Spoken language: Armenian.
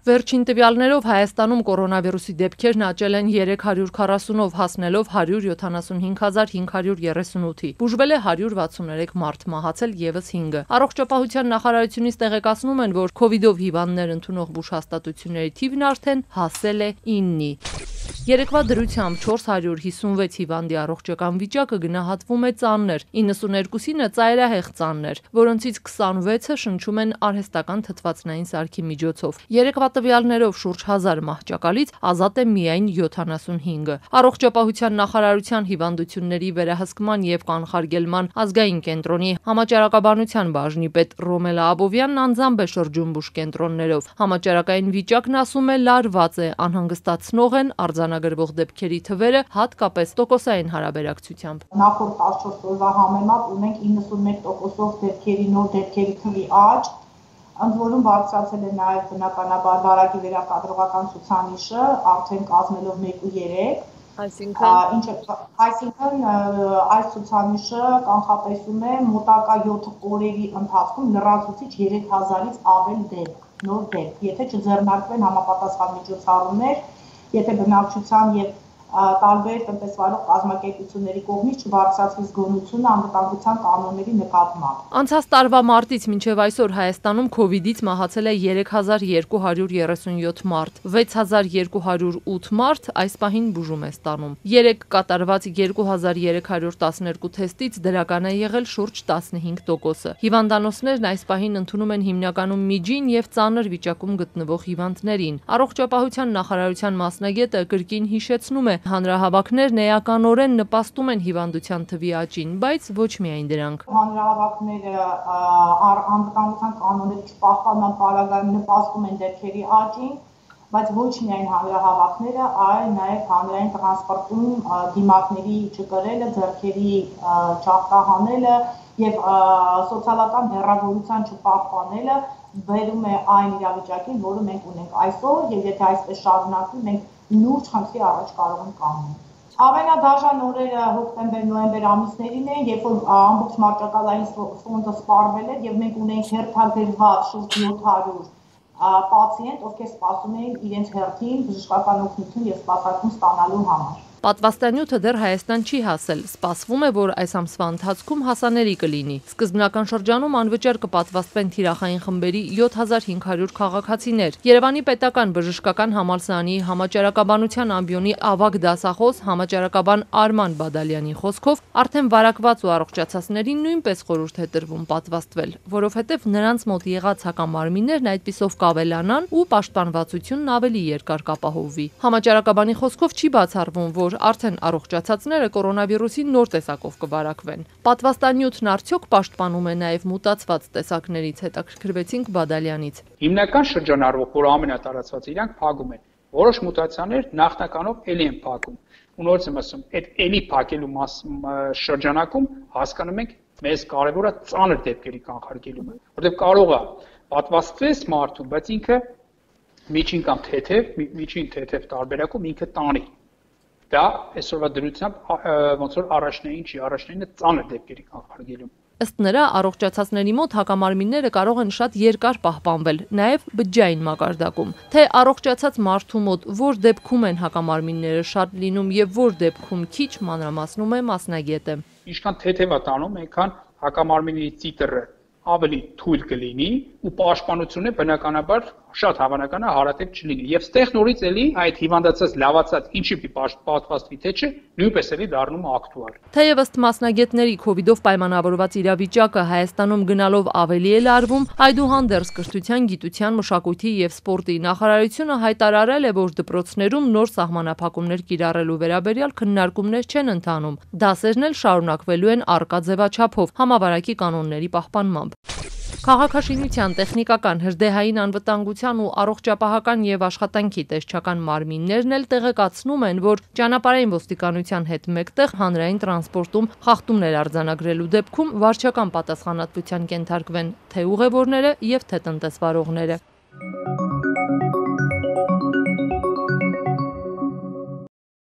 Վերջին տվյալներով Հայաստանում կորոնավիրուսի դեպքերն աճել են 340-ով, հասնելով 175,538-ի։ Բուժվել է 163 մարդ, մահացել ևս 5-ը։ Առողջապահության նախարարությունից տեղեկացնում են, որ քովիդով հիվանդներ ընդունող բուժհաստատությունների թիվն արդեն հասել է 9-ի։ Երեկվա դրությամբ 456 հիվանդի առողջական վիճակը գնահատվում է ծանր, 92-ինը ծայրահեղ ծանր, որոնցից 26-ը շնչում են արհեստական թթվածնային սարքի միջոցով։ Երեկվա տվյալներով շուրջ 1000 մահճակալից ազատ է միայն 75-ը։ Առողջապահության նախարարության հիվանդությունների վերահսկման եւ կանխարգելման ազգային կենտրոնի համաճարակաբանության բաժնի պետ Ռոմելա Աբովյանն անձամբ է շրջում բուժկենտրոններով։ Համաճարակային վիճակն ասում է լարված է, անհանգստացնող են արձանագրվող դեպքերի թվերը, հատկապես տոկոսային հարաբերակցությամբ։ Նախորդ 14 օրվա համեմատ ունենք 91%-ով նոր դեպքերի թվի աճ, ընդ որում բարձրացել է նաև բնականաբար վարակի վերակադրողական ցուցանիշը, արդեն կազմելով 1.3, այսինքն այս ցուցանիշը կանխատեսում է մոտակա 7 օրերի ընթացքում լրացուցիչ 3000-ից ավել նոր դեպք, եթե չձեռնարկվեն համապատասխան միջոցառումներ, եթե բնակչության եւ տարբեր տնտեսվարող կազմակերպությունների կողմից չբարձրացվի զգոնությունը անվտանգության կանոնների նկատմամբ։ Անցած տարվա մարտից մինչև այսօր Հայաստանում քովիդից մահացել է 3237 մարդ, 6208 մարդ այս պահին բուժում է ստանում։ 3 կատարված 2312 թեստից դրական է եղել շուրջ 15%-ը։ Հիվանդանոցներն այս պահին ընդունում են հիմնականում միջին եւ ծանր վիճակում գտնվող հիվանդներին։ Առողջապահության նախարարության մասնագետը կրկին հիշեցնում է, հանրահավաքներն էականորեն նպաստում են հիվանդության թվի աճին, բայց ոչ միայն դրանք։ Հանրահավաքները անվտանգության կանոնների չպահպանման պարագայում նպաստում են դեպքերի աճին, բայց ոչ միայն հանրահավաքները, այլ նաև հանրային տրանսպորտում դիմակների չկրելը, ձեռքերի չախտահանելը եւ սոցիալական հեռավորության չպահպանելը բերում է այն իրավիճակին, որը մենք ունենք այսօր, եւ եթե այսպես շարունակվի, մենք լուրջ խնդրի առաջ կարող ենք կանգնել։ Ամենադաժան օրերը հոկտեմբեր-նոյեմբեր ամիսներին են, երբ որ ամբողջ մարտակալային ֆոնդը սպառվել էր եւ մենք ունենք հերթագրված շուրջ 700 պացիենտ, ովքեր սպասում էին իրենց հերթին բժշկական օգնություն եւ սպասարկում ստանալու համար։ Պատվաստանյութը դեռ Հայաստան չի հասել, սպասվում է, որ այս ամսվա ընթացքում հասանելի կլինի։ Սկզբնական շրջանում անվճար կպատվաստվեն թիրախային խմբերի 7500 քաղաքացիներ։ Երևանի պետական բժշկական համալսարանի համաճարակաբանության ամբիոնի ավագ դասախոս համաճարակաբան Արման Բադալյանի խոսքով արդեն վարակված ու առողջացածներին նույնպես խորհուրդ է տրվում պատվաստվել, որովհետև նրանց մոտ եղած հակամարմիններն այդպիսով կավելանան ու պաշտպանվածությունն ավելի երկար կապահովվի։ Համաճարակաբանի խոսքով չի բացառվում, որ արդեն առողջացածները կորոնավիրուսի նոր տեսակով կվարակվեն։ Պատվաստանյութն արդյոք պաշտպանում է նաև մուտացված տեսակներից, հետաքրքրվեցինք Բադալյանից։ Հիմնական շրջանառվող, որ ամենատարածված իրանք փակում են։ Որոշ մուտացիաներ նախնականով էլի են փակում։ Ու նորից եմ ասում, այդ էլի փակելու շրջանակում հասկանում ենք մեզ կարևորը ծանր դեպքերի կանխարգելումը, որտեղ կարող է պատվաստվես մարդուն, բայց ինքը միջին կամ թեթև տարբերակում ինքը տանի։ Դա այսօրվա դրությամբ ոնց որ առաջնային չի, առաջնայինը ծանր դեպքերի կանխարգելում։ Ըստ նրա, առողջացածների մոտ հակամարմինները կարող են շատ երկար պահպանվել, նաև բջջային մակարդակում։ Թե առողջացած մարդու մոտ որ դեպքում են հակամարմինները շատ լինում եւ որ դեպքում քիչ, մանրամասնում է մասնագետը։ Ինչքան թեթև է տանում, այնքան հակամարմինի տիտրը ավելի թույլ կլինի ու պաշտպանությունը բնականաբար շատ հավանական է հարատև չլինի։ Եվ ստեղ նորից էլի այդ հիվանդացած լավացած ինչի պատվաստվի թե չէ, նույնպես էլի դառնում է ակտուալ։ Թեև ըստ մասնագետների քովիդով պայմանավորված իրավիճակը Հայաստանում գնալով ավելի է լարվում, այդուհանդերձ կրթության, գիտության, մշակույթի եւ սպորտի նախարարությունը հայտարարել է, որ դպրոցներում նոր սահմանափակումներ կիրառելու վերաբերյալ քննարկումներ չեն ընթանում։ Դասերն էլ շարունակվելու են առկա ձևաչափով համավարակի կանոնների պահպանմամբ։ Քաղաքաշինության, տեխնիկական, հրդեհային անվտանգության ու առողջապահական եւ աշխատանքի տեսչական մարմիններն էլ տեղեկացնում են, որ ճանապարհային ոստիկանության հետ մեկտեղ հանրային տրանսպորտում խախտումներ արձանագրելու դեպքում վարչական պատասխանատվության կենթարկվեն թե ուղևորները եւ թե տնտեսվարողները։